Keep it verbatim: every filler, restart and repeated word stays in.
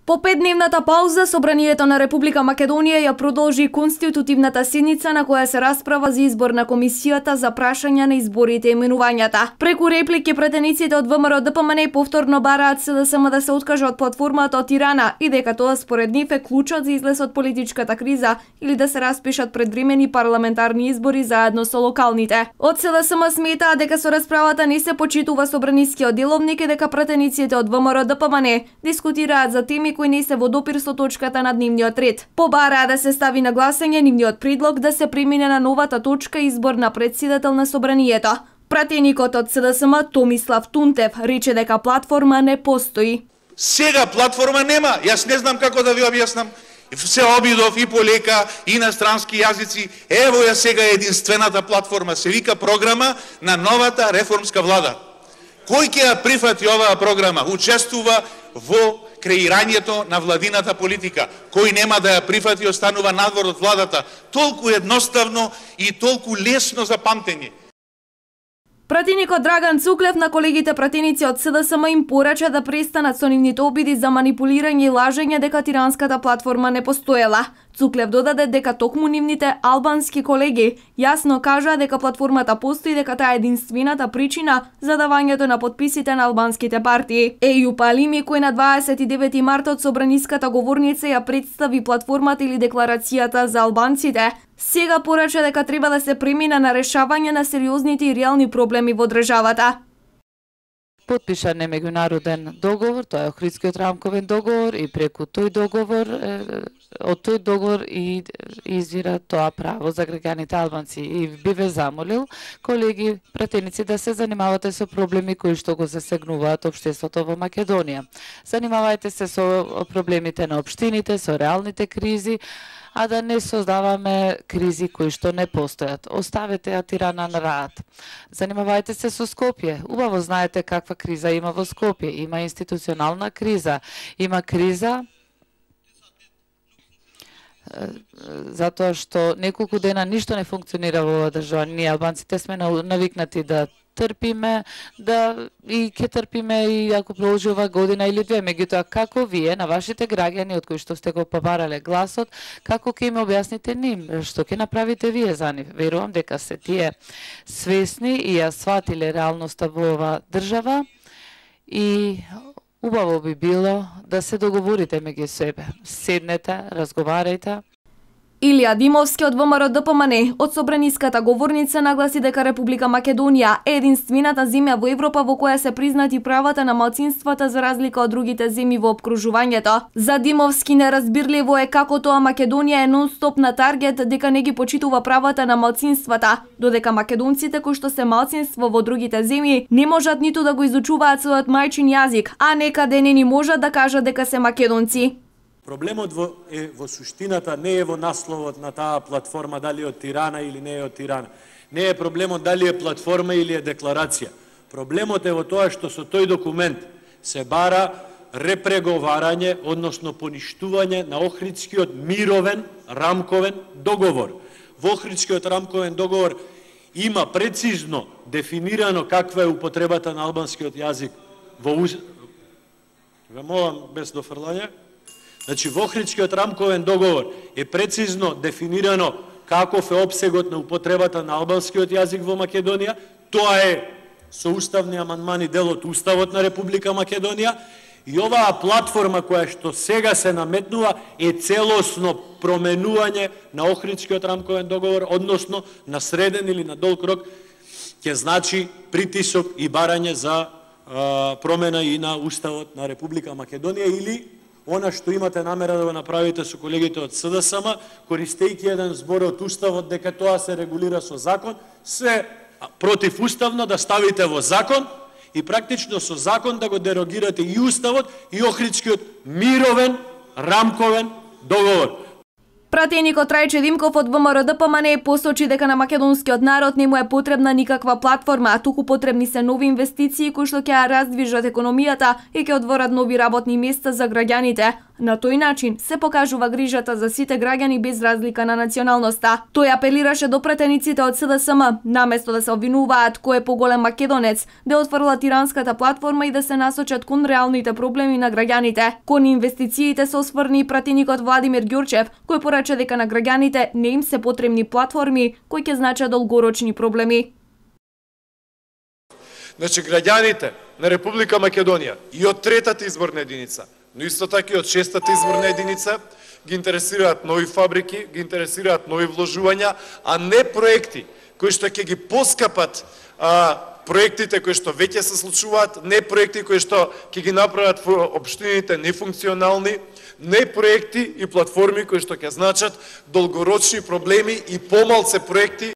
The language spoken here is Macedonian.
По петдневната пауза, Собранието на Република Македонија ја продолжи конститутивната седница на која се расправа за избор на комисијата за прашања на изборите и именувањата. Преку реплики претениците од ВМРО Д П М Н повторно бараат С Д С М да се откаже од платформата од Тирана и дека тоа според нив е клучот за излез од политичката криза или да се распишат предвремени парламентарни избори заедно со локалните. Од С Д С М сметаа дека со расправата не се почитува собранискиот деловник и дека претениците од ВМРО Д П М Н дискутираат за теми кои не се во допир со точката на дневниот ред. Побараа да се стави на гласање нивниот предлог да се премине на новата точка избор на председател на Собранието. Пратеникот од С Д С М Томислав Тунтев рече дека платформа не постои. Сега платформа нема, јас не знам како да ви објаснам. Се обидов и по лека, и на странски јазици. Ево ја сега единствената платформа, се вика програма на новата реформска влада. Кој ќе ја прифати оваа програма? Учествува во креирањето на владината политика. Кој нема да ја прифати, останува надвор од владата. Толку едноставно и толку лесно за памтење. Пратеникот Драган Цуклев на колегите пратеници од С Д С М им порача да престанат со нивните обиди за манипулирање и лажење дека тиранската платформа не постоела. Цуклев додаде дека токму нивните албански колеги јасно кажаа дека платформата постои, дека таа е единствената причина за давањето на потписите на албанските партии. Ејуп Алими, кој на дваесет и девети март од собраниската говорница ја представи платформата или декларацијата за албанците, сега порача дека треба да се премине на решавање на сериозните и реални проблеми во државата. Потпишан е меѓународен договор, тоа е Охридскиот рамковен договор и преку тој договор, од тој договор и извира тоа право за граѓаните албанци. И би ве замолил, колеги пратеници, да се занимавате со проблеми кои што го засегнуваат општеството во Македонија. Занимавајте се со проблемите на општините, со реалните кризи, а да не создаваме кризи кои што не постојат. Оставете ја Тирана на раат. Занимавајте се со Скопје. Убаво знаете каква криза има во Скопје. Има институционална криза. Има криза затоа што неколку дена ништо не функционира во оваа држава. Ние албанците сме навикнати да трпиме, да и ќе трпиме и ако продолжи ова година или две. Меѓутоа, како вие на вашите граѓани од кои што сте го побарале гласот, како ќе им објасните ним, што ќе направите вие за нив? Верувам дека се тие свесни и ја сватиле реалноста во оваа држава и убаво би било да се договорите меѓу себе. Седнете, разговарајте. Илија Димовски од ВМРО Д П М Н од собраниската говорница нагласи дека Република Македонија е единствената земја во Европа во која се признати правата на малцинствата за разлика од другите земји во опкружувањето. За Димовски неразбирливо е како тоа Македонија е нон-стоп на таргет дека не ги почитува правата на малцинствата, додека македонците кои што се малцинство во другите земји не можат ниту да го изучуваат својот мајчин јазик, а некаде не ни можат да кажат дека се македонци. Проблемот во, е во суштината, не е во насловот на таа платформа, дали е од Тирана или не е од Тирана. Не е проблемот дали е платформа или е декларација. Проблемот е во тоа што со тој документ се бара репреговарање, односно поништување на Охридскиот мировен рамковен договор. Во Охридскиот рамковен договор има прецизно дефинирано каква е употребата на албанскиот јазик во уз... Ве молам без дофрлање. Значи, во Охридскиот рамковен договор е прецизно дефинирано каков е опсегот на употребата на албанскиот јазик во Македонија. Тоа е со уставни амандмани дел од Уставот на Република Македонија. И оваа платформа која што сега се наметнува е целосно променување на Охридскиот рамковен договор, односно на среден или на долг рок ќе значи притисок и барање за а, промена и на Уставот на Република Македонија или она што имате намера да го направите со колегите од С Д С М, користејќи еден збор од Уставот дека тоа се регулира со закон, се противуставно да ставите во закон и практично со закон да го дерогирате и Уставот и Охридскиот мировен рамковен договор. Пратеникот Трајче Димков од ВМРО Д П М Н посочи дека на македонскиот народ не му е потребна никаква платформа, а туку потребни се нови инвестиции кои што ќе ја раздвижат економијата и ќе отворат нови работни места за граѓаните. На тој начин се покажува грижата за сите граѓани без разлика на националноста. Тој апелираше до претениците од С Д С М, наместо да се обвинуваат кој е поголем македонец, да отфрлат тиранската платформа и да се насочат кон реалните проблеми на граѓаните. Кон инвестициите се осврни и пратеникот Владимир Ѓурчев, кој порача дека на граѓаните не им се потребни платформи кои ќе значат долгорочни проблеми. Значи, граѓаните на Република Македонија и од третата изборна единица, но исто така и од шестата изборна единица, ги интересираат нови фабрики, ги интересираат нови вложувања, а не проекти кои што ќе ги поскапат а, проектите кои што веќе се случуваат, не проекти кои што ќе ги направат општините нефункционални, не проекти и платформи кои што ќе значат долгорочни проблеми и помалце проекти